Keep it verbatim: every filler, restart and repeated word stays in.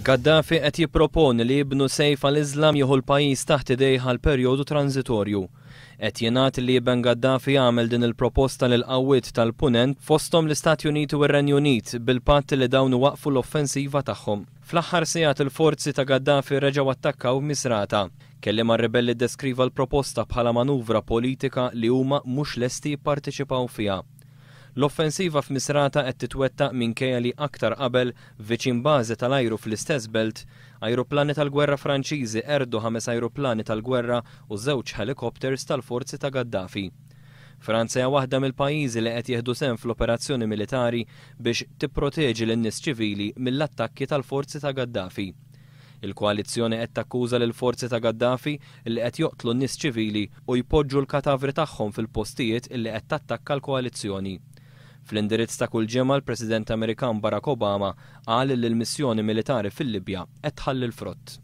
Gaddafi qed jipproponi li ibnu Sejf al-Islam jieħu l-pajjiż taħt idejh għal perjodu transitorju. Qed jingħad li iben Gaddafi għamel din il-proposta lil qawwiet tal-Punent, fosthom l-Istati Uniti u r-Renju Unit, bil-patt li dawn waqfu l-offensiva tagħhom. Fl-aħħar sigħat il-forzi ta' Gaddafi reġgħu attakkaw Misrata. Kelliem għar-ribelli deskriva l-proposta bħala manuvra politika li huma mhux lesti jipparteċipaw fiha. L-offensiva f'Misrata qed titwettaq minkejja li aktar qabel, viċin bażi tal-ajru fl-istess belt, ajruplani tal-gwerra Franċiżi qerdu ħames ajruplani tal-gwerra u żewġ helikopters tal-forzi ta' Gaddafi. Franza hija waħda mill-pajjiżi li qed jieħdu sehem fl-operazzjoni militari biex tipproteġi lin-nies ċivili mill-attakki tal-forzi ta' Gaddafi. Il-koalizzjoni qed takkuża lil forzi ta' Gaddafi li qed joqtlu n-nies ċivili u jpoġġu l-katavri tagħhom fil-postijiet illi qed tattakka l-koalizzjoni. Fl-indirizz ta' kull ġimgħa, l-President Amerikan Barack Obama qal li l-missjoni militari fil-Libja qed tħalli l-frott.